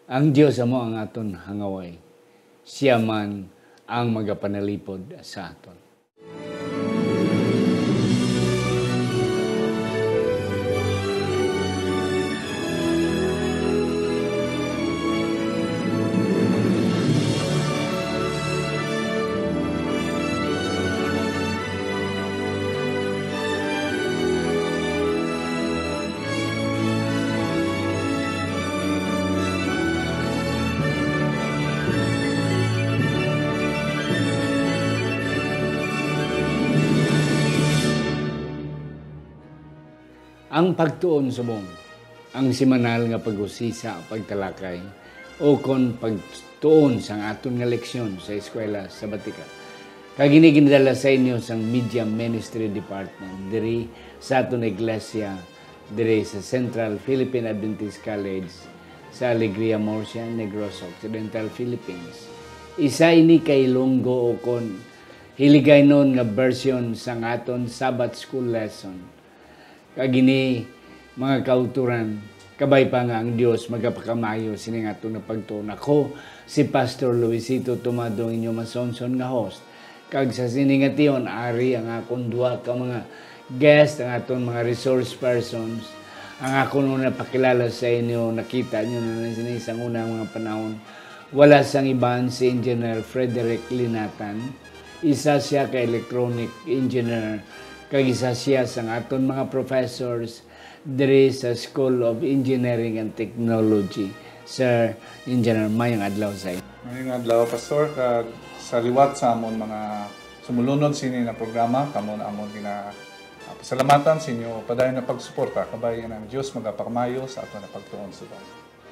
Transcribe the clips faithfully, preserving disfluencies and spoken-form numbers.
Ang Dios amo ang aton hangaway. Sia man ang magapanalipod sa aton. Ang pagtuon subong, ang semanal nga pag-usisa, pagtalakay, o kon pagtuon sang aton nga leksyon sa eskwela sabatika. Kag ini ginadala sa inyo sang Media Ministry Department diri sa aton iglesia, diri sa Central Philippine Adventist College sa Alegria, Murcia, Negros Occidental, Philippines. Isa ini ka Ilonggo o kon Hiligaynon nga version sang aton Sabbath School lesson. Kag ini, mga kauturan, kabay pa nga ang Dios magapakamayo sining aton nga pagtuon. Ako si Pastor Luisito Tomado, inyo masonson nga host. Kag sa sini nga tion, ari ang akon duha ka mga guest, ang aton mga resource persons. Ang akon una pakilala sa inyo, nakita nyo na sini sang unang mga panahon. Wala sang iban si Engineer Frederick Linatan. Isa sia ka electronic engineer, kag isa sia sang aton mga professors diri sa School of Engineering and Technology. Sir Engineer, mayong adlaw sa inyo. Mayong adlaw, Pastor, kag sa liwat sa amon mga sumulunod sini nga programa, kamo na amon gina-, ah, pasalamatan sa inyo padayon nga pagsuporta. Kabay ang Dios magapakamayo sa aton nga pagtuon subong.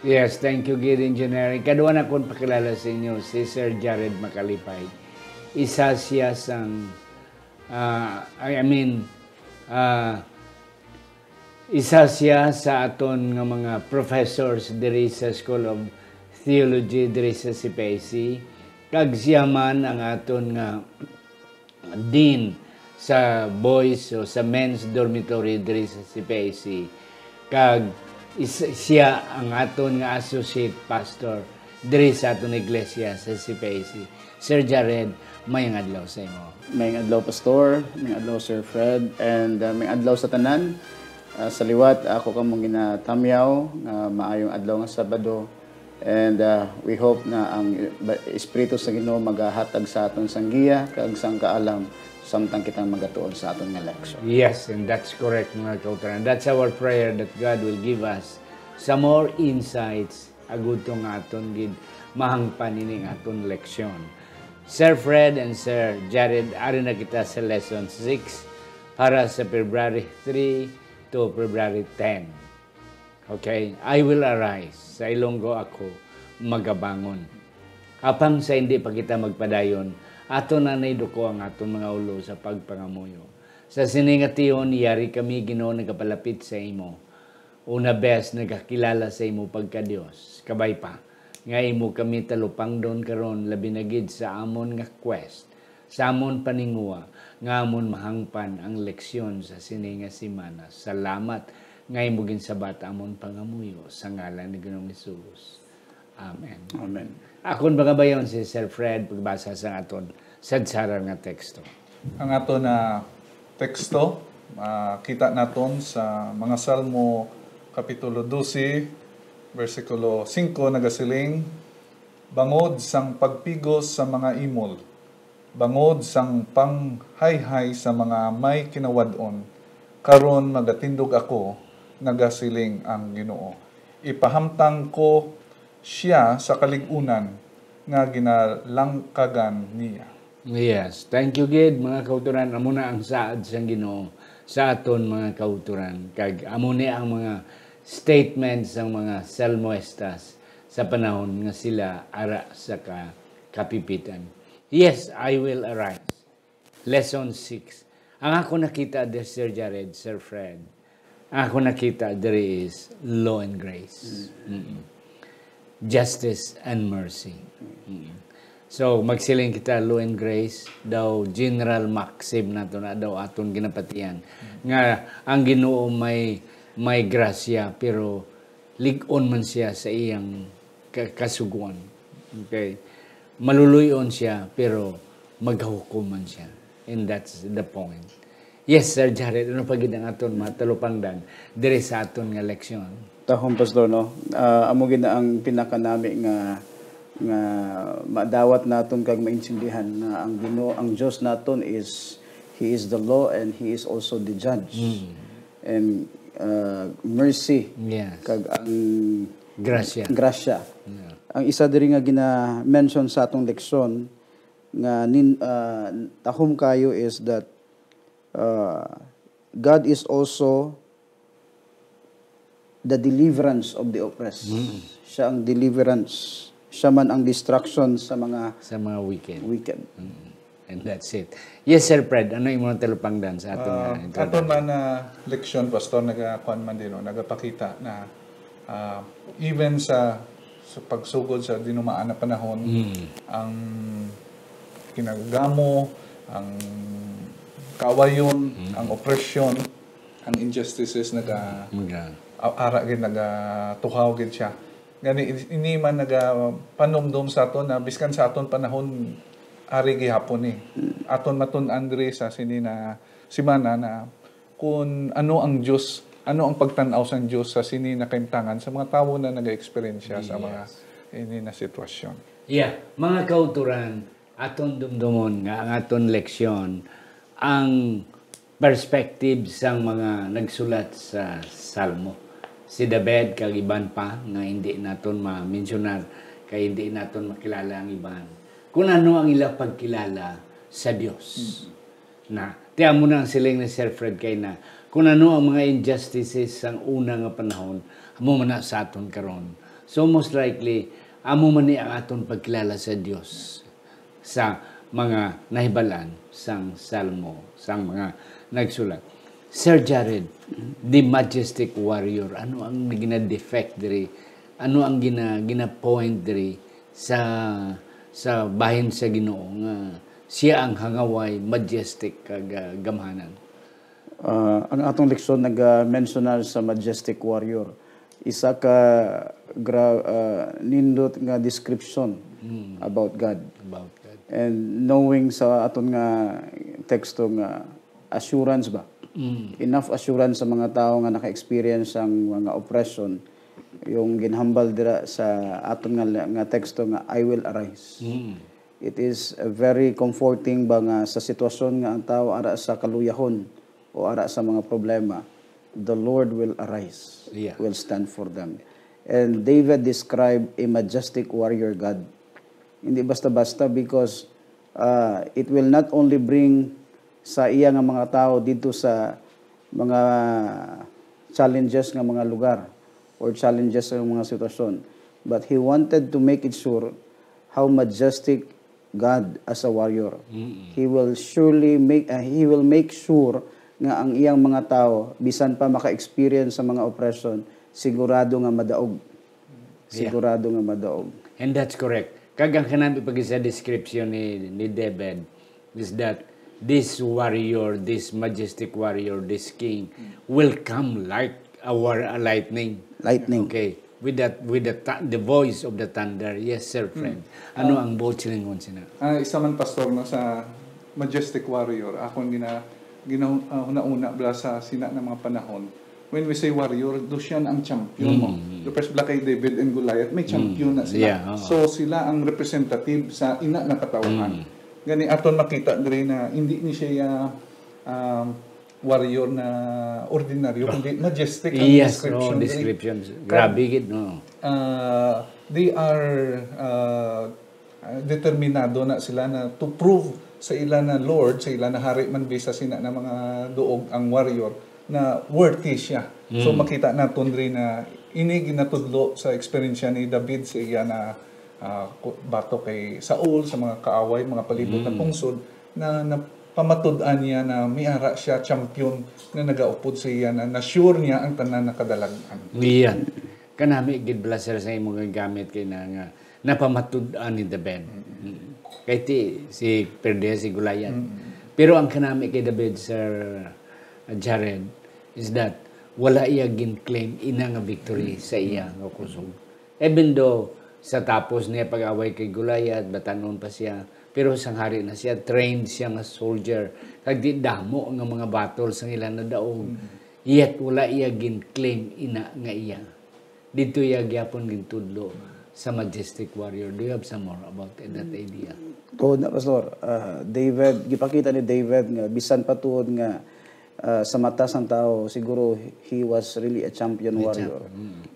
Yes, thank you gid, Engineer. Ikaduha na kong pakilala sa inyo, si Sir Jared Macalipay. Isa siya sang, ah, I, I mean, ah, isa siya sa aton nga mga professors diri sa School of Theology diri sa C P I C. Kag siya man ang aton nga dean sa boys o sa men's dormitory diri sa C P I C, kag is-, siya ang aton nga associate pastor diri sa aton iglesia sa C P I C. Sir Jared, mayong adlaw sa imo. Mayong adlaw, Pastor. Mayong adlaw, Sir Fred. And, uh, mayong adlaw sa tanan. Uh, sa liwat, ako kamong ginatamyaw nga maayong adlaw nga Sabado. And, uh, we hope na ang ba-, Espiritu sa Ginoo magahatag sa aton sang giya kag sang kaalam samtang kita magatuon sa aton nga leksyon. Yes, and that's correct, mga kauturan. That's our prayer, that God will give us some more insights, agud to nga aton gid mahangpan ining aton leksyon. Sir Fred and Sir Jared, ari na kita sa lesson six para sa February three to February ten. Okay, "I will arise." Sa Ilonggo, "Ako magabangon." Apang sa hindi pa kita magpadayon, ato na naiduko ang aton mga ulo sa pagpangamuyo. Sa sini nga tion, yari kami, Ginoo, nagapalapit sa imo. Una bes nagakilala sa imo pagka-Dios. Kabay pa nga imo kami talupangdon karon, labi na gid sa amon nga quest, sa amon paninguha nga amon mahangpan ang leksyon sa sini nga semana. Salamat nga imo ginsabat amon pangamuyo sa ngalan ni Ginoong Hesus. Amen. Amen. Akon pangabayon si Sir Fred pagbasa sa aton sadsaran nga teksto. Ang aton na teksto, ah, kita naton sa mga Salmo Kapitulo dose, bersikulo singko, nagasiling, "Bangod sang pagpigos sa mga imol, bangod sang panghayhay sa mga may kinawad-on, karon magatindog ako," nagasiling ang Ginoo. "Ipahamtang ko sia sa kalig-unan nga ginalangkagan niya." Yes, thank you gid, mga kauturan. Amo na ang saad sang Ginoo sa aton, mga kauturan. Kag amo ni ang mga statement sang mga salmoestas sa panahon nga sila ara sa ka-, kapipitan. "Yes, I will arise." Lesson six. Ang ako nakita diri, Sir Jared, Sir Fred, ang ako nakita diri is law and grace. Mm. Mm-mm. Justice and mercy. Mm-mm. So, magsiling kita, law and grace, daw general maxim nato na daw aton ginapatihan. Mm. Nga ang Ginoo may, may grasya, pero lig-on man siya sa iyang ka-, kasugoan. Okay? Maluluy-on siya, pero magahukom man siya. And that's the point. Yes, Sir Jared, ano pa gid ang aton matalupangdan diri sa aton nga leksyon? Tahom, Pastor, no? Ah, amo gid na ang pinakanami nga, nga madawat naton kag maintindihan nga ang Ginoo, ang Dios naton is, He is the law and He is also the judge. Mm. And, ah, mercy Yes. kag ang Grasya. grasya. Yeah. Ang isa diri nga gina-mention sa atong leksyon nga nin-, ah, tahom kayo is that, ah, God is also the deliverance of the oppressed. Mm. Siya ang deliverance. Siya man ang destruction sa mga Sa mga wicked. wicked. Mm. And that's it. Yes, Sir Fred, ano imong talupangdan sa aton Ah, nga introduction? aton man na leksyon, Pastor, nagakuan man din, no? Nagapakita na, ah, even sa, sa pagsugod sa dinumaan na panahon, Mm. ang kinagamo, ang kawayon, Mm. ang opresyon, ang injustices naga Mga a-, ara gid, nagatuhaw gid siya. Gani, ini man nagapanumdom sa aton na biskan sa aton panahon, ari gihapon ni. Mm. Aton matun-an diri sa sini na semana na kung ano ang Dios, ano ang pagtan-aw sang Dios sa sini na kahimtangan sa mga tawo na naga-eksperyensya sa mga Yes. ini na sitwasyon. Yeah, mga kauturan, aton dumdumon nga ang aton leksyon, ang perspective sang mga nagsulat sa Salmo. Si David kag iban pa nga hindi naton ma-mensionar kay hindi naton makilala ang iban. Kung ano ang ila pagkilala sa Dios. Mm. Na, ti amo na ang siling ni Sir Fred kay na, kung ano ang mga injustices sang una nga panahon, amo man na sa aton karon. So, most likely, amo man ni ang aton pagkilala sa Dios, sa mga nahibalaan sang Salmo, sang mga nagsulat. Sir Jared, the majestic warrior, ano ang gina-defect diri? Ano ang gina-, gina-point diri sa, sa bahin sa Ginoo nga siya ang hangaway, majestic, kag, ah, gamhanan? Ah, ang atong leksyon naga-mensionar sa majestic warrior. Isa ka gra-, ah, nindot nga description Mm. about God. About God. And knowing sa aton nga teksto nga assurance ba? Mm. Enough assurance sa mga tawo nga naka-experience sang mga oppression, yung ginhambal dira sa aton nga, nga teksto nga, "I will arise." Mm. It is, uh, very comforting ba nga sa sitwasyon nga ang tawo ara sa kaluyahon o ara sa mga problema, the Lord will arise, Yeah. will stand for them. And David described a majestic warrior God. Hindi basta-basta because, uh, it will not only bring sa iya nga mga tawo didto sa mga challenges nga mga lugar or challenges sa mga sitwasyon. But he wanted to make it sure how majestic God as a warrior. Mm-mm. He will surely make, uh, he will make sure nga ang iyang mga tawo, bisan pa maka-experience sa mga oppression, sigurado nga madaog. Yeah. Sigurado nga madaog. And that's correct. Kag ang kanami pag sa description ni, ni David, is that this warrior, this majestic warrior, this king, will come like a war, a lightning. Lightning. Okay. With that, with the thu-, the voice of the thunder. Yes, sir, friend. Ano ang buot silingon sina? Ah, isa man, Pastor, no, sa majestic warrior, akon gina-, gina-, ah, huna-huna bala sa sina na mga panahon. When we say warrior, do siya na ang champion mo. Mm. The first bala kay David and Goliath, may champion na sila. Yeah, oo. So, sila ang representative sa ina na katawhan. Mm. Gani, aton makita diri na hindi ni siya, um, warrior na ordinaryo, kundi majestic ang Yes, description no, diri. descriptions. Kag, Grabe gid, no. ah, they are, ah, ah, determinado na sila na to prove sa ila na Lord, sa ila na hari man, bisa sina na mga duog ang warrior, na worthy siya. So, Mm. makita naton diri na ini ginatudlo sa eksperyensya ni David sa iya na, ah, ku-, batok kay Saul, sa mga kaaway, mga palibot na Mm. pungsod, na, na pamatud-an niya na may ara siya champion nga nagaupod sa iya, na na-sure niya ang tanan na kadalag-an. Iyan. Kanami gid bala, sir, sa imong gamit kay na nga napamatud-an ni David. Mm. Kay ti, si perde si Goliath. Mm. Pero ang kanami kay David, Sir Jared, is that wala iya gin-claim ina nga victory Mm. sa iya nga kusog. Even though Sa tapos niya pag-away kay Goliath, batan-on pa siya. Pero sang hari na siya, trained siya nga soldier. Kag di damo nga mga battle sang ila nadaog. Yet wala iya gin-claim ina nga iya. Didto iya gyapon gintudlo sa Majestic Warrior. Do you have some more about that idea? Oo na, Pastor. Ah, David, gipakita ni David nga bisan pa tuod nga ah, sa mata sang tao, siguro he was really a champion warrior.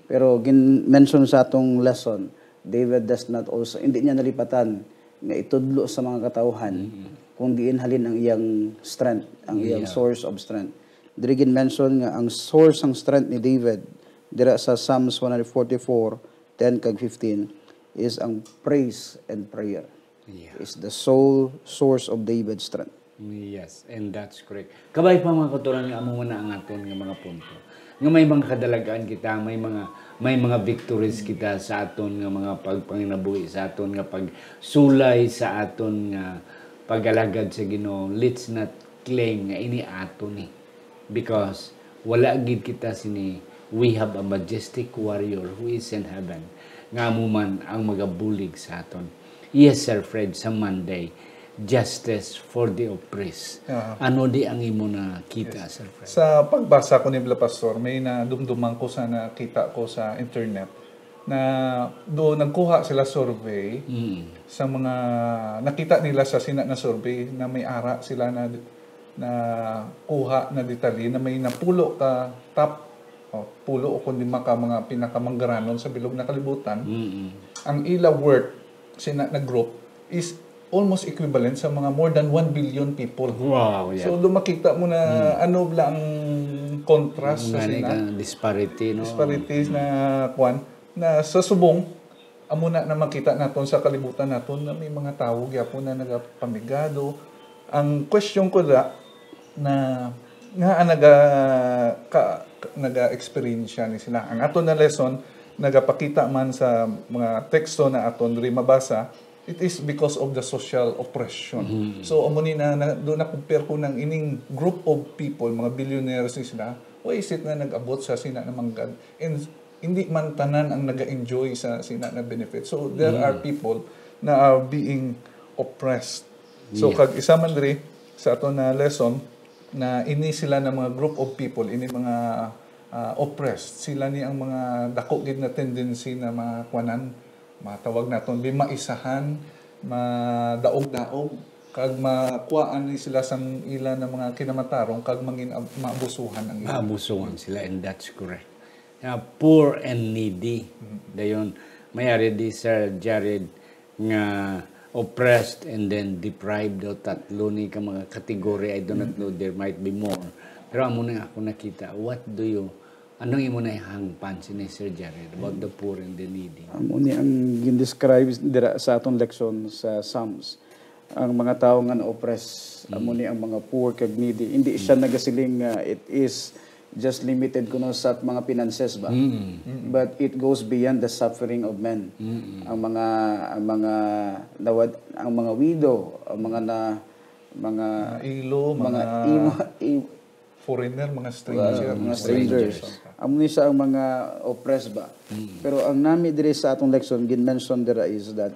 Pero gin-mention sa atong lesson, David does not also, hindi niya nalipatan nga itudlo sa mga katawhan kung diin halin ang iyang strength, ang iyang Yeah. source of strength. Diri gin-mention nga ang source sang strength ni David dira sa Psalms one forty-four, ten kag fifteen is ang praise and prayer. Yeah. Is the sole source of David's strength. Yes, and that's correct. Kabay pa, mga kauturan, nga amo man na ang aton nga mga punto. Nga may mga kadalagan kita, may mga may mga victories kita sa aton nga mga pagpanginabuhi, sa aton nga pagsulay, sa aton nga pag-alagad sa Ginoo. Let's not claim nga ini ato ni. Because wala gid kita sini, we have a majestic warrior who is in heaven, nga amo man ang magabulig sa aton. Yes, Sir Fred, sa Monday, justice for the oppressed. Aha. Ano di ang imo nakita, Sir Fred? Sa pagbasa ko ni Bla Pastor, may nadumduman ko sa nakita ko sa internet na do nagkuha sila survey Mm. sa mga nakita nila sa sina na survey na may ara sila na na kuha na detalye na may napulo ka top o pulo o kundi maka mga pinakamanggaranon sa bilog na kalibutan. Mm-mm. Ang ila worth sina na group is almost equivalent sa mga more than one billion people. Wow, yeah. So, do makita mo na ano bla ang contrast sa Ngani sina ka disparity, no? Disparities na kwan na sa subong amo na na makita naton sa kalibutan naton na may mga tawo gyapon na nagapamigado. Ang question ko da na nga naga ka, naga-experience ni sila. Ang aton na lesson nagapakita man sa mga teksto na aton diri mabasa, it is because of the social oppression. So amo ni na, na do na compare ko nang ining group of people, mga billionaires ni sila, why is it na nag-abot sa sina na manggad? And hindi man tanan ang naga-enjoy sa sina na benefit. So there are people na are being oppressed. So Yeah. kag isa man diri sa aton na lesson na ini sila na mga group of people, ini mga ah, oppressed, sila ni ang mga dako gid na tendency na makwanan, matawag naton bi maisahan, madaog-daog, kag makuhaan ni sila sang ila na mga kinamatarong kag mangin maabusuhan ang ila. Maabusuhan sila, and that's correct. Yeah, poor and needy. Dayon, mayari di, Sir Jared, nga oppressed and then deprived, daw tatlo ni ka mga category. I do not know, there might be more. Pero amo na ako nakita. What do you, anong imo na hangpan sini, Sir Jared, about the poor and the needy? Amo ni ang gindescribe dira sa aton leksyon sa Psalms. Ang mga tawo nga na-oppress, amo ni ang mga poor kag needy. Hindi siya nagasiling nga it is just limited kuno sa mga finances ba? But it goes beyond the suffering of men. Ang mga ang mga nawad, ang mga widow, ang mga na mga Mga ilo, mga mga imo- i- foreigner, mga uh, stranger. mga strangers. Amo ni siya ang mga oppressed ba? Pero ang nami diri sa atong leksyon, gin-mention dira is that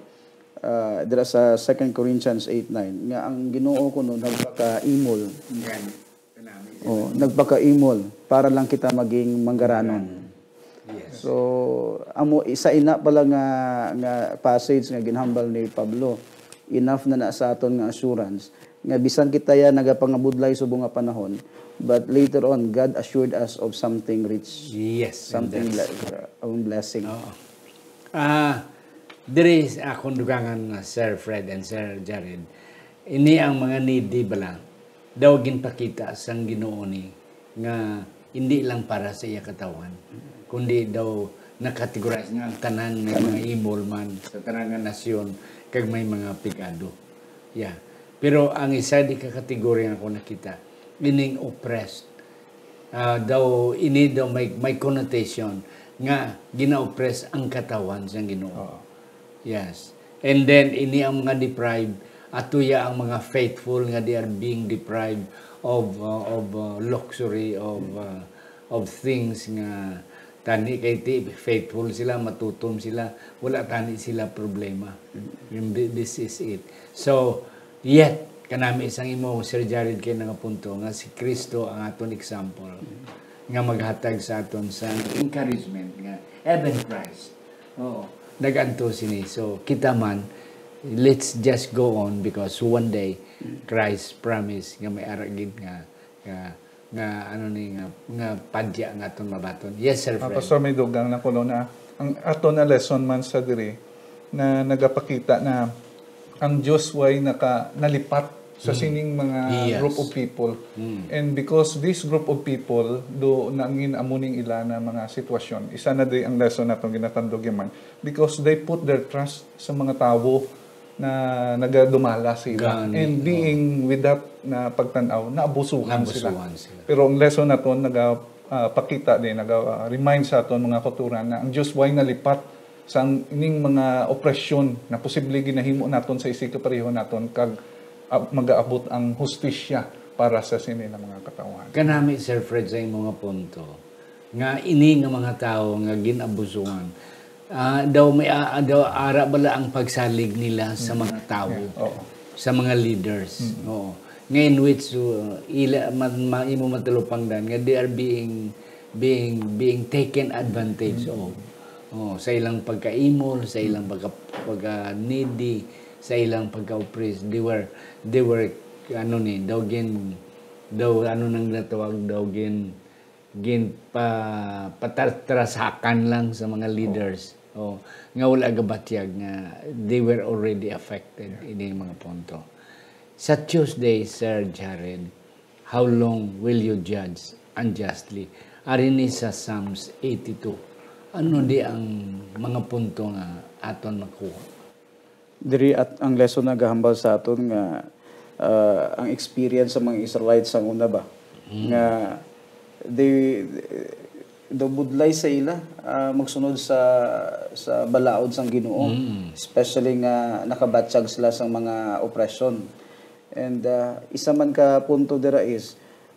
uh, dira sa Second Corinthians eight nine nga ang Ginoo kuno nagpakaimol. Yan. Kanami. Oh, nagpakaimol para lang kita maging manggaranon. Yes. So, amo isa ina pala nga nga passage nga ginhambal ni Pablo. Enough na na sa aton nga assurance nga bisan kita ya nagapangabudlay subong nga panahon, but later on God assured us of something rich, Yes, and something that's- like uh, ang blessing. Oo. Ah, diri sa akong dugangan, uh, Sir Fred and Sir Jared, ini ang mga needy bala daw ginpakita sang Ginoo ni nga hindi lang para sa iya katawhan, kundi daw nakategorize nga ang tanan may mga imol man sa tanan nga nasyon kag may mga pigado. Yeah. Pero ang isa di ka kategorya nga ako nakita, ining oppressed. Ah, daw ini daw may may connotation nga gina-oppress ang katawhan sang Ginoo. Yes. And then ini ang mga deprived, atuya ang mga faithful nga they are being deprived of uh, of uh, luxury, of uh, of things nga Tani kay ti, faithful sila, matutom sila, wala tani sila problema. Yung thi-, this is it. So, yet, kanami sang imo, Sir Jared, kay nga punto nga si Kristo ang aton example nga maghatag sa aton sa encouragement nga even Christ. Oo. Naganto sini. So, kita man, let's just go on because one day, Christ promise nga may ara gid nga, nga, nga, ano ni, nga, nga padya nga aton mabaton. Yes, Sir Ah, Fred. Pastor, may dugang na kuno na ang aton na lesson man sa diri na nagapakita na ang Dios way naka-, nalipat sa Mm. sining mga Yes. group of people. Mm. And because this group of people, do nangin amo ning ila na mga sitwasyon, isa na di ang lesson naton ginatandog yaman, because they put their trust sa mga tawo na nagadumala sila. Gani, And oh. being with that na pagtan-aw, naabusuhan sila. Naabusuhan sila. Pero ang lesson naton naga, ah, pakita din, naga, ah, remind sa aton mga kauturan na ang Dios way nalipat sa ning mga opresyon na posible ginahimo naton sa isigkapareho naton kag, ah, magaabot ang hustisya para sa sini na mga katawhan. Kanami, Sir Fred, sa imo nga punto, nga ini nga mga tawo nga gin-abusuhan, ah, daw may, ah, daw ara bala ang pagsalig nila sa Mm. mga tawo, Yeah, oo. sa mga leaders. Mm. Oo. Nga in which, uh, ila, ma-, ma-, imo matalupangdan nga they are being, being, being taken advantage Mm. of. Oh, sa ilang pagkaimol, sa ilang Mm. pagka, pagka-needy, sa ilang pagka-oppressed, they were, they were, ano ni, daw gin, daw, ano nang natawag, daw gin, gin pa, patartrasakan lang sa mga leaders. Oh, nga wala gabatyag nga they were already affected Yeah. ini mga punto. Sa Tuesday, Sir Jared, "How long will you judge unjustly?" Ari ni sa Psalms eighty-two. Ano di ang mga punto nga aton makuha? Diri at ang lesson nagahambal sa aton nga, ah, ang experience sa mga Israelites sang una ba, Mm. nga they, daw budlay sa ila, ah, magsunod sa, sa balaod sang Ginoo, Mm. especially nga nakabatyag sila sang mga opresyon. And, ah, isa man ka punto dira is,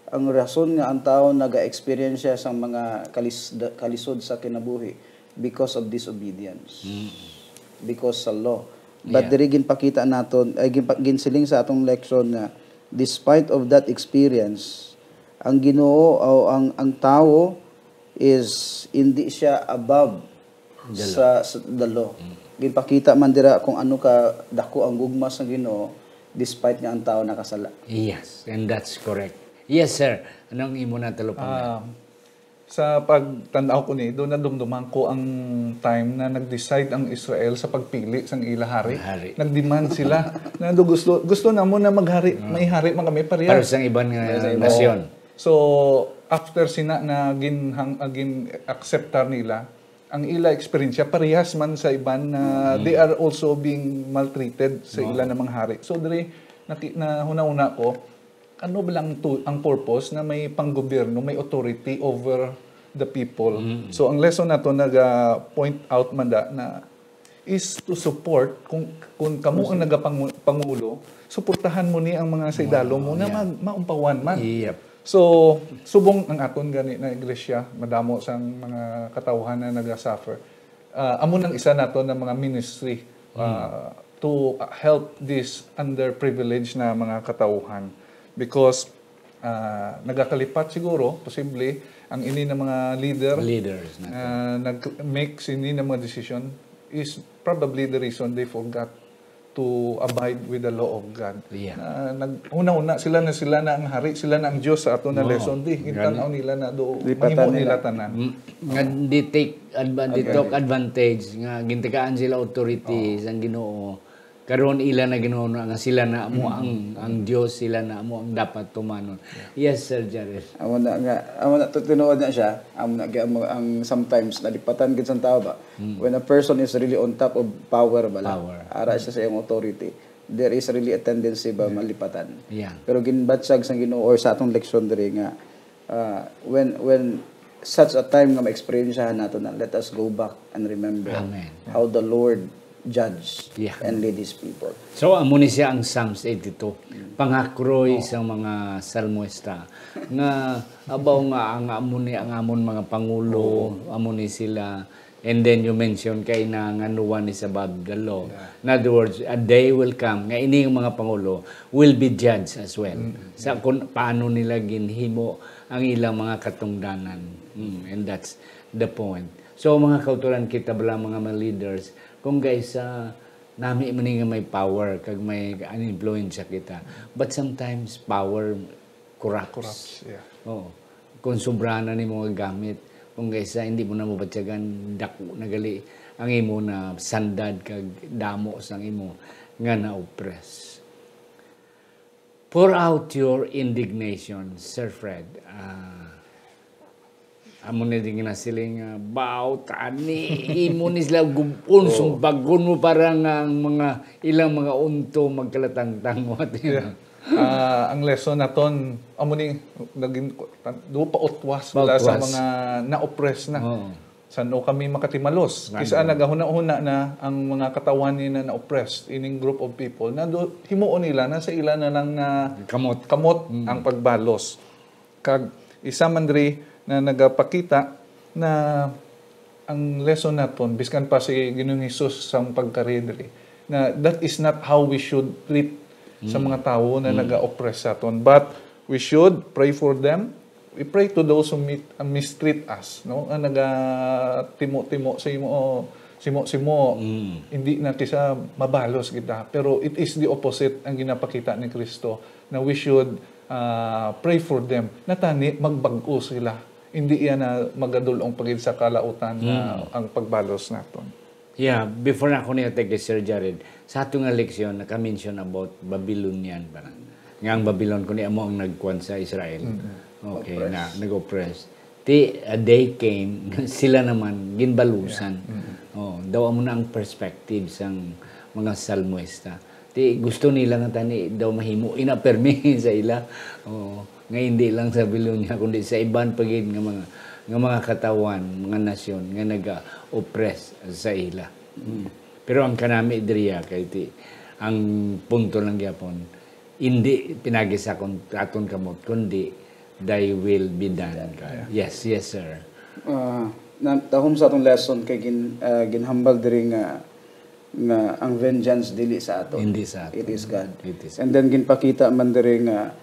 ang rason nga ang tawo naga-experience siya sang mga kalis-, kalisod sa kinabuhi because of disobedience. Mm. Because sa law. But Yeah. diri ginpakita naton, ay ginpa-, ginsiling sa atong leksyon nga despite of that experience, ang Ginoo o ang, ang tawo is hindi siya above The law. sa, sa the law. Mm. Ginpakita man dira kung ano ka dako ang gugma sa Ginoo despite nga ang tawo nakasala. Yes, and that's correct. Yes, sir. Anong imo na talupangdan? Ah, sa pagtan-aw ko ni, do nadumduman ko ang time na nag-decide ang Israel sa pagpili sang ila hari. Hari. Nag-demand sila na do gusto, gusto namo na maghari, Ah. may hari man kami parehas. Para sa iban nga Yes, nasyon. Oo. So, after sina na ginhang-, ah, gin-akseptar nila, ang ila eksperyensya parehas man sa iban na Mm. they are also being maltreated sa Oo. ila na mga hari. So, diri, naki-, nahuna-huna ko, ano ba lang to, ang purpose na may panggobyerno, may authority over the people? Mm. So, ang lesson nato naga-point out man da na is to support, kung, kung kamo ang Kung si nagapangu-, pangulo, suportahan mo ni ang mga sa idalom mo na Yeah. mag-, maumpawan man. Yep. So, subong ang aton gani na iglesia, madamo sang mga katawhan na naga-suffer. Ah, amo nang isa nato na mga ministry, Mm. ah, to help this underprivileged na mga katawhan. Because, ah, nagakalipat siguro, posible, ang ini na mga leader Leaders nato. na nag-make sini na mga decision is probably the reason they forgot to abide with the law of God. Yeah. Na nag-, una-una, sila na, sila na ang hari, sila na ang Diyos sa ato na Oo. lesson, di. Gani. Gintan-aw nila na do, Lipatan mahimo nila. nila tanan. Mm, nga di take advan-, di Advantage. took advantage, nga gintagaan sila authority Oo. sang Ginoo. Karon ila na Ginoo na nga sila na amo Mm. ang, ang Diyos, sila na amo ang dapat tumanon. Yeah. Yes, Sir Jared. Amo na nga, amo na to tinuod na siya. Amo na gyud ang, ang sometimes nalipatan gid sang tao ba? Mm. When a person is really on top of power bala, Power. ara siya sa iyang authority, there is really a tendency ba Yeah. malipatan. Yeah. Pero ginbatyag sang Ginoo or sa atong leksyon diri nga, ah, when, when such a time nga ma-experience nato na, let us go back and remember Amen. how the Lord judge Yeah. and lead his people. So, amo ni siya ang Psalms eighty-two. Pangakroy sa mga salmista nga abaw nga ang amo ni ang amon mga pangulo, amo ni sila. And then you mentioned kay na nga no one is above the law. In other words, a day will come nga ini nga mga pangulo will be judged as well. Sa kung paano nila ginhimo ang ilang mga katungdanan. Mm, and that's the point. So, mga kauturan, kita bala mga, mga leaders, kung guys, ah, nami man nga may power kag may influence kita. But sometimes power corrupts. Corrupts, yeah. Oo. Kung sobra na nimo nga gamit, kung kaysa hindi mo na mabatyagan, dako na gali ang imo na sandad kag damo sang imo nga na-oppress. Pour out your indignation, Sir Fred. Ah, amo na din nga nasiling nga, "Baw, tani, imo ni sila gubon, sumbagon mo para nga ang mga ilang mga unto magkalatangtang." What you know? Ah, ang lesson naton amo ni naging do pautwas wala sa Pautwas. Mga na-oppress na. Oo. Sano kami makatimalos? Nga Kisa naman. nagahuna-huna na ang mga katawhan ni na na-oppressed ining group of people na do, himuon nila na sa ila na lang na Kamot. kamot ang pagbalos. Kag isa man diri na nagapakita na ang lesson naton, biskan pa si Ginoong Hesus sang pagkari diri, na that is not how we should treat sa mga tawo na naga-oppress sa aton. But we should pray for them. We pray to those who meet, uh, mistreat us, no? Nga nagatimo-timo sa imo, simo-simo. Hindi na kisa mabalos kita. Pero it is the opposite ang ginapakita ni Kristo, na we should, uh, pray for them. Natani, magbag-o sila. Hindi yan na magadulong pagid sa kalautan na ang pagbalos naton. Yeah, before na ako niya kay Sir Jared, sa ato nga leksyon, naka-mention about Babylonian, parang, nga ang Babylon, kundi amo ang nagkuan sa Israel. Okay, na nag-oppress. Ti, a day came, sila naman, ginbalusan. Oh, daw amo na ang perspective sang mga salmista. Ti, gusto nila nga tani daw mahimo ina permi sa ila. Oh, nga hindi lang sa Babylonia, kundi sa iban pa gid nga mga, nga mga katawan, mga nasyon nga naga-oppress sa ila. Hmm. Pero ang kanami diriya kay ti, ang punto lang gyapon, hindi pinagi sa akon, aton kamot, kundi thy will be done, God. Yes, yes, sir. Ah, na, tahom sa atong lesson kay gin, ah, ginhambal diri nga nga ang vengeance dili sa aton. Hindi sa aton. It is God. It is. And then ginpakita man diri nga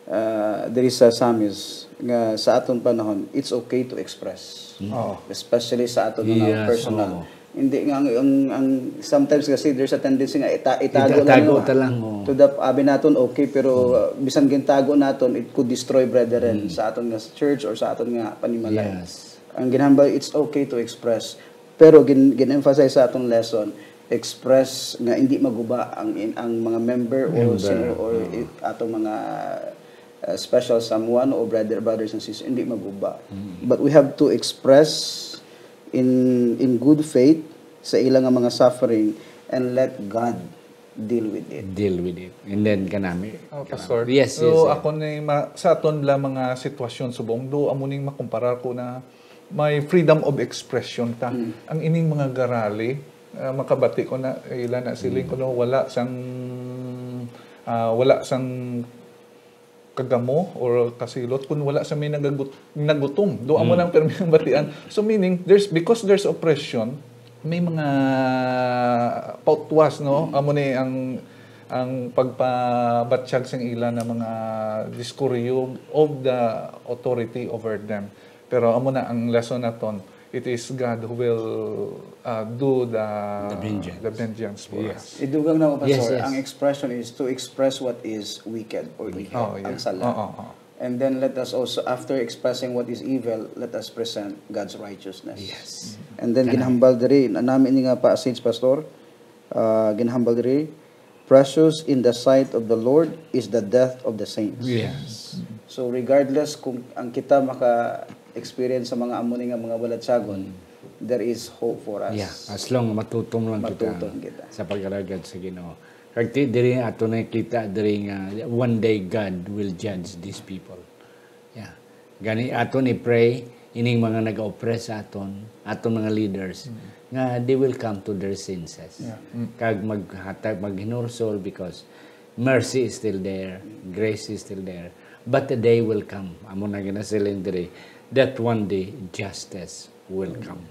ah, diri sa Psalms nga sa aton panahon, it's okay to express. Oo. Especially sa aton mga Yes, personal. Oo. Hindi nga ang, ang, ang sometimes kasi there's a tendency nga ita, itago Itago lang. ta lang, oo. To the abi naton okay, pero uh, bisan gintago naton, it could destroy, brethren, sa aton nga church or sa aton nga panimalay. Yes. Ang ginhambal, it's okay to express. Pero gin, gin-emphasize sa atong lesson, express nga hindi maguba ang in, ang mga member o Member, sino or oo. i- atong mga uh, special someone o brother brothers and sisters, hindi maguba. But we have to express in in good faith sa ilang nga mga suffering and let God deal with it. Deal with it. And then kanami. Oh, kanami. Pastor. Yes, yes. So, Sir. Ako ni ma- sa aton bala mga sitwasyon subong do amo ning makumparar ko na may freedom of expression ta. Ang ining mga garali, ah, makabati ko na ila na siling ko no wala sang ah, wala sang kagamo or kasilot kun wala sa may nagagut- nagutom. Do amo nang permi ang batian. So meaning there's because there's oppression, may mga pautwas, no? Amo ni ang ang pagpabatyag sang ila na mga diskuryo of the authority over them. Pero amo na ang lesson naton. It is God who will uh, do the The vengeance. the vengeance for Yes. us. Idugang na ko, Yes, Pastor, yes. Ang expression is to express what is wicked or evil, Oh, yeah. ang sala. Oo, oo. And then let us also, after expressing what is evil, let us present God's righteousness. Yes. And then ginhambal diri, na nami ni nga passage, Pastor, ah, ginhambal diri, "Precious in the sight of the Lord is the death of the saints." Yes. So regardless kung ang kita maka-experience sa mga amo ni nga mga balatyagon, there is hope for us. Yeah, as long matutom lang kita, Matutom kita. Sa pag-alagad sa Ginoo. Kag ti diri ato nakita diri nga one day God will judge these people. Yeah. Gani ato ni pray ining mga nag-oppress sa aton, aton mga leaders. nga they will come to their senses. Yeah. Mm. Kag maghatag, maghinursol because mercy is still there, grace is still there. But the day will come, amo na ginasiling diri, that one day justice will come.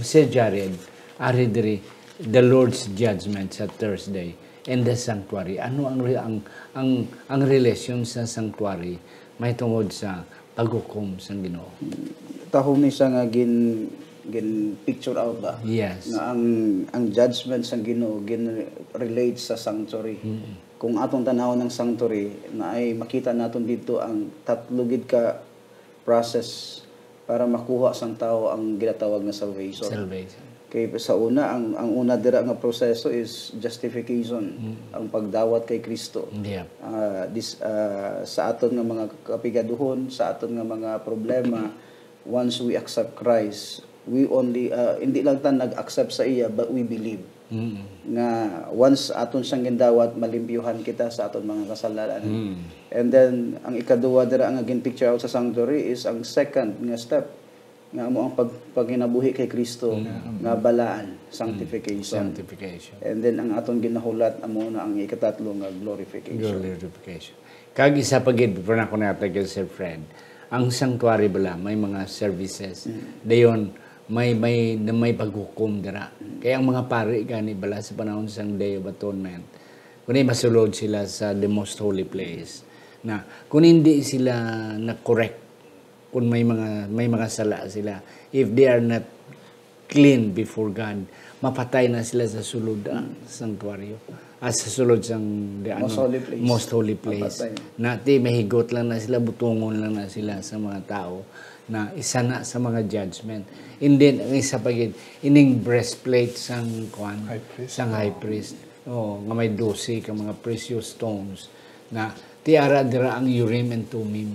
Sir Jared, ari diri, the Lord's judgment sa Thursday and the sanctuary. Ano ang re-, ang, ang, ang relasyon sa sanctuary may tungod sa paghukom sang Ginoo? Taho ni siya nga gin, gin picture out ba? Yes. Nga ang, ang judgment sang Ginoo gin relate sa sanctuary. Mm. Kung atong tanawon ang sanctuary, na ay makita naton dito ang tatlo gid ka process para makuha sang tawo ang ginatawag nga salvation. Salvation. Kay sa una, ang, ang una dira nga proseso is justification, Mm. ang pagdawat kay Kristo. Yeah. Ah, dis-, ah, sa aton nga mga kapigaduhon, sa aton nga mga problema, once we accept Christ, we only, ah, hindi lang ta nag-accept sa iya, but we believe Mm. nga once aton siyang gindawat, malimpyuhan kita sa aton mga kasalanan. Mm. And then, ang ikaduha dira nga gin-picture out sa sanctuary is ang second nga step, nga amo ang pag-, pagkinabuhi kay Kristo, Mm. nga balaan, Mm. sanctification. Sanctification. And then, ang aton ginahulat, amo na ang ikatatlo nga glorification. Glorification. Kag isa pa gid, pero nako na kay Sir Fred, ang sanctuary bala, may mga services. Mm. Dayon, may, may, may paghukom dira. Mm. Kaya ang mga pari gani bala sa panahon sang Day of Atonement, kung masulod sila sa the most holy place, na kung hindi sila na-correct, kung may mga, may mga sala sila, if they are not clean before God, mapatay na sila sa sulod, ah, sanctuary. Ah, sa sulod sang, di, ano, Most holy place. Most holy place. Mapatay. Na, ti, mahigot lang na sila, butungon lang na sila sa mga tao na isa na sa mga judgment. And then, ang isa pa gid, ining breastplate sang, kuan, High priest. sang high priest. Oh, nga may dose ka mga precious stones na ti ara dira ang Urim and Thummim,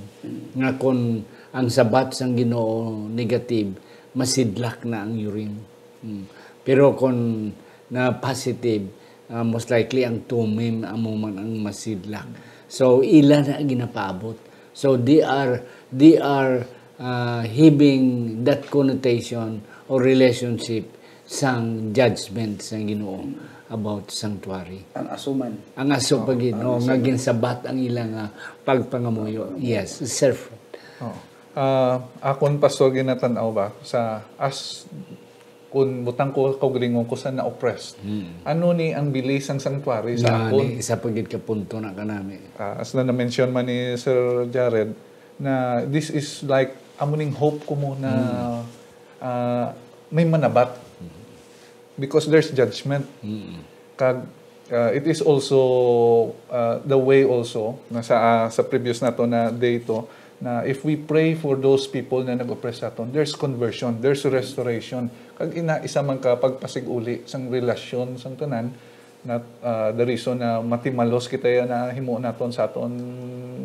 nga kon ang sabat sang Ginoo negative, masidlak na ang Urim. Mm. Pero kon na positive, ah, most likely ang Thummim amo man ang masidlak. So, ila na ginapaabot. So, they are, they are, ah, having that connotation or relationship sang judgment sang Ginoo about sanctuary. Ang asuman. Ang aso Oo, pa gid, ang no, nga asuman. Ginsabat ang ila nga pagpangamuyo. Pagpangamuyo. Yes, sir. Oo. Ah, akon, Pastor, ginatan-aw ba sa as kun butang ko kaugalingon ko sa na-oppressed. Hmm. Ano ni ang bili sang sanctuary sa Nga akon? Ni, isa pa gid ka punto na kanami. Ah, as na na-mention man ni Sir Jared, na this is like, amo ning hope ko mo na, Hmm. ah, may manabat. Hmm. Because there's judgment. Hmm. Kag, ah, it is also, ah, the way also na sa, ah, sa previous nato na day to, na if we pray for those people na nag-oppress sa aton, there's conversion, there's restoration. Kag ina, isa man ka pagpasig-uli sang relasyon sang tanan, not, ah, the reason na matimalos kita ya na himo naton sa aton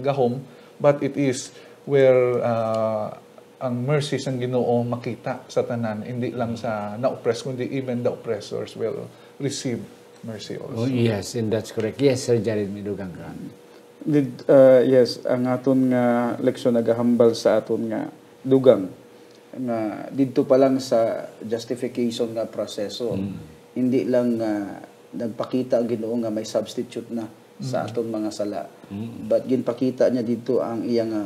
gahom, but it is where, ah, ang mercy sang Ginoo makita sa tanan, hindi lang sa na-oppress, kundi even the oppressors will receive mercy also. Oh, yes, and that's correct. Yes, Sir Jared, may dugang ka. Did, uh, yes, ang aton nga leksyon nagahambal sa aton nga dugang nga didto pa lang sa justification nga proseso, Mm. hindi lang nga nagpakita ang Ginoo nga may substitute na sa Mm. aton mga sala, Mm. but ginpakita niya didto ang iya nga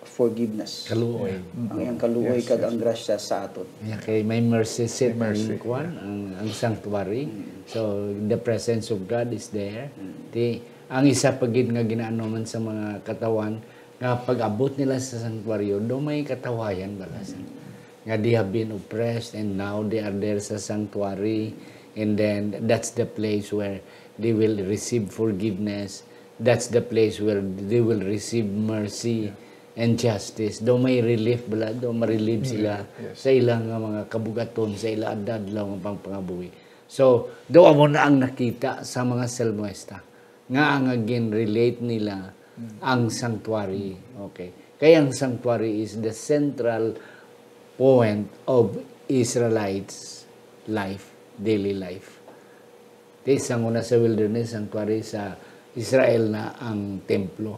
forgiveness. Kaluoy. Yeah. Ang iyang kaluoy Yes, kag yes. ang grasya sa aton. Yeah, kay may mercy seat May mercy, ang kuwan, yeah. ang, ang sanctuary. Mm. So, the presence of God is there. Mm. Ti, ang isa pa gid nga ginaano man sa mga katawhan, nga pag-abot nila sa sanctuaryo, do may katawayan bala sa Mm. nga they have been oppressed and now they are there sa sanctuary, and then that's the place where they will receive forgiveness. That's the place where they will receive mercy Yeah. and justice. Do may relief bala, do ma-relieve Yeah, sila yes. sa ilang nga mga kabugaton, sa ilang adlaw nga pangpangabuhi. So, do amo na ang nakita sa mga salmista nga ang gin-relate nila Mm. ang sanctuary. Okay. Kaya ang sanctuary is the central point of Israelites' life, daily life. Kay sang una sa wilderness, sanctuary sa Israel na ang templo.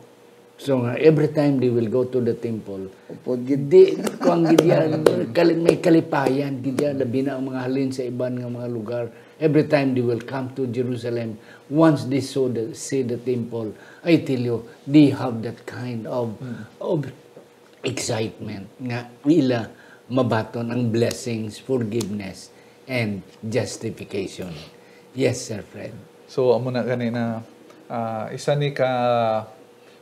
So nga, every time they will go to the temple, Upod gid. di, kuwan gid yan, kali-, may kalipayan gid yan, labi na ang mga halin sa iban nga mga lugar. Every time they will come to Jerusalem, once they saw the, see the temple, I tell you, they have that kind of, of excitement nga ila mabaton ang blessings, forgiveness, and justification. Yes, Sir Fred. So, amo na gani na ah, isa ni ka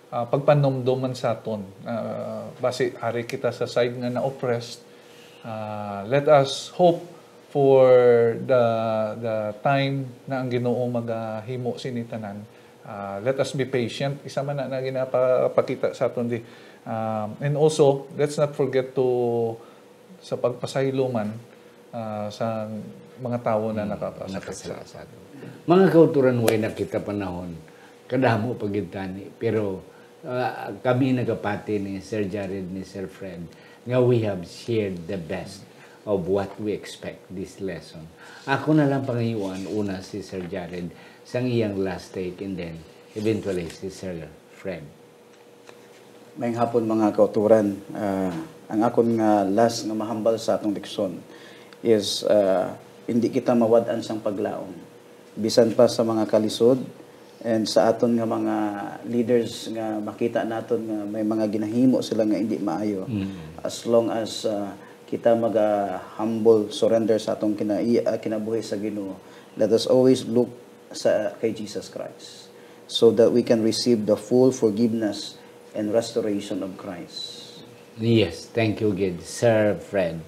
ah, pagpanumdom man sa aton. Ah, basi ari kita sa side nga na-oppressed. Ah, let us hope for the the time na ang Ginoo magahimo sini tanan. Ah, let us be patient. Isa man na, na ginapakita sa aton di. Um, and also, let's not forget to sa pagpasaylo man ah, sa mga tawo na nakapasakit sa Nakasala sa ato. Mga kauturan, way na kita panahon, kadamo pa gid tani, pero ah, kami nagapati ni Sir Jared, ni Sir Fred, nga we have shared the best of what we expect this lesson. Ako na lang pangayuan una si Sir Jared sang iyang last take, and then eventually si Sir Fred. Maayong hapon, mga kauturan. Ah, ang akon nga last nga mahambal sa atong leksyon is, ah, hindi kita mawad-an sang paglaom. Bisan pa sa mga kalisod and sa aton nga mga leaders nga makita naton nga may mga ginahimo sila nga hindi maayo, as long as ah, kita maga-humble surrender sa atong kina ah, kinabuhi sa Ginoo, let us always look sa kay Jesus Christ so that we can receive the full forgiveness and restoration of Christ. Yes, thank you gid, Sir Fred.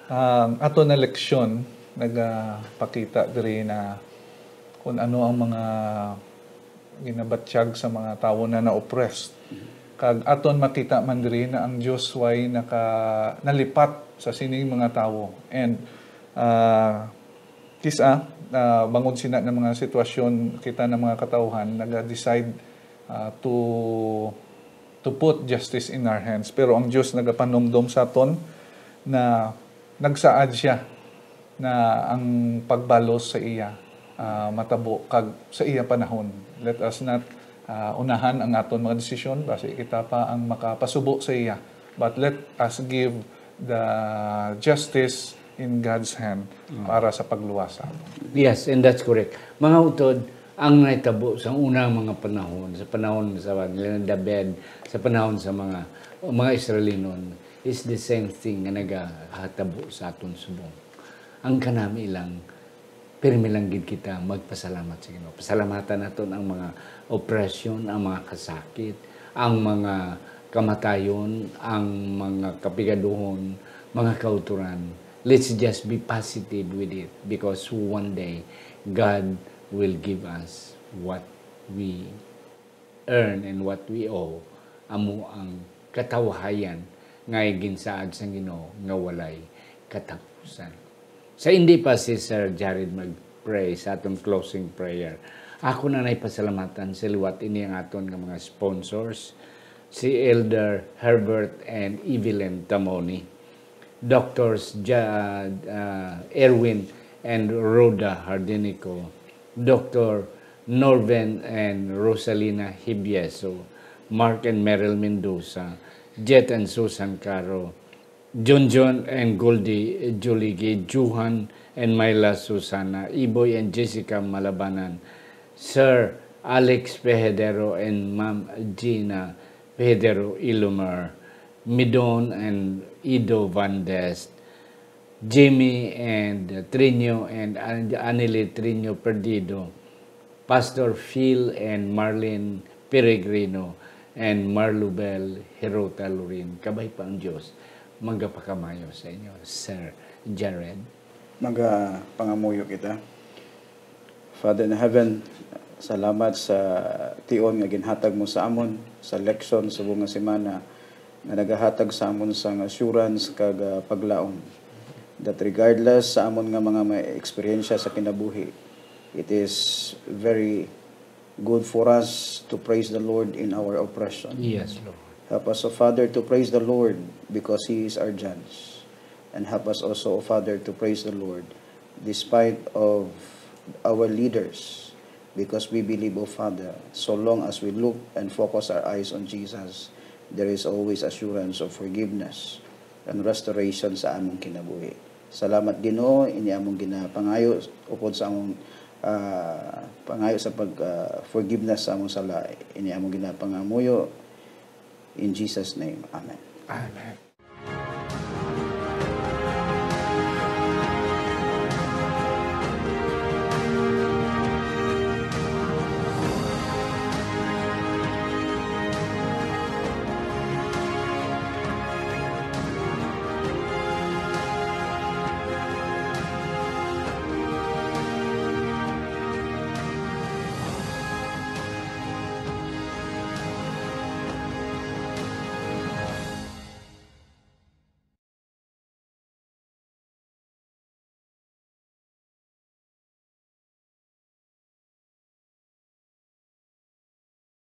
Ang ato na leksyon nagapakita diri na kung ano ang mga ginabatyag sa mga tawo na na-oppressed. Kag aton makita man diri na ang Dios way naka nalipat sa sining mga tawo. And ah, kis-a ah, bangod sina nga mga sitwasyon, kita na mga katawhan naga-decide ah, to to put justice in our hands. Pero ang Dios nagapanumdom sa aton na nagsaad siya na ang pagbalos sa iya ah, matabo kag sa iya panahon. Let us not ah, unahan ang aton mga desisyon, basi kita pa ang makapasubo sa iya. But let us give the justice in God's hand para sa pagluwas sa aton. Yes, and that's correct. Mga utod, ang nahitabo sa unang mga panahon, sa panahon sa nila David, sa panahon sa mga mga Israelinon, is the same thing nga nagahatabo sa aton subong. Ang kanami lang, pirmi lang gid kita magpasalamat sa Ginoo. Pasalamatan naton ang mga oppression, ang mga kasakit, ang mga kamatayon, ang mga kapigaduhon, mga kauturan. Let's just be positive with it, because one day God will give us what we earn and what we owe, amo ang katawahayan nga ginsaad sang Ginoo nga walay katapusan. Sa hindi pa si Sir Jared mag-pray sa atong closing prayer, ako na nay pasalamatan sa liwat ini ang aton nga mga sponsors, si Elder Herbert and Evelyn Tamoni, Doctors Ja-, ah, Erwin and Rhoda Hardinico, Doctor Norven and Rosalina Hibieso, Mark and Meryl Mendoza, Jet and Susan Caro, Junjun and Goldie Juligi, Juhan and Myla Susana, Iboy and Jessica Malabanan, Sir Alex Pehedero and Ma'am Gina Pehedero Ilumar, Midon and Ido Van Dest, Jimmy and Trinio and An-, Anile Trinio Perdido, Pastor Phil and Marlene Peregrino, and Marlubel Hirota Lorin. Kabay pa ang Dios magapakamayo sa inyo, Sir Jared. Magapangamuyo kita. Father in heaven, salamat sa tion nga ginhatag mo sa amon, sa leksyon subong nga semana, nga nagahatag sa amon sang assurance kag ah, paglaom that regardless sa amon nga mga may eksperyensya sa kinabuhi, it is very good for us to praise the Lord in our oppression. Yes, Lord. Help us, O Father, to praise the Lord because He is our judge. And help us also, O Father, to praise the Lord despite of our leaders Because we believe, O Father, so long as we look and focus our eyes on Jesus, there is always assurance of forgiveness and restoration sa among kinabuhi. Salamat, Ginoo, ini among ginapangayo upod sa among, ah, pangayo sa pag, ah, forgiveness sa among sala. Ini among ginapangamuyo in Jesus' name. Amen. Amen.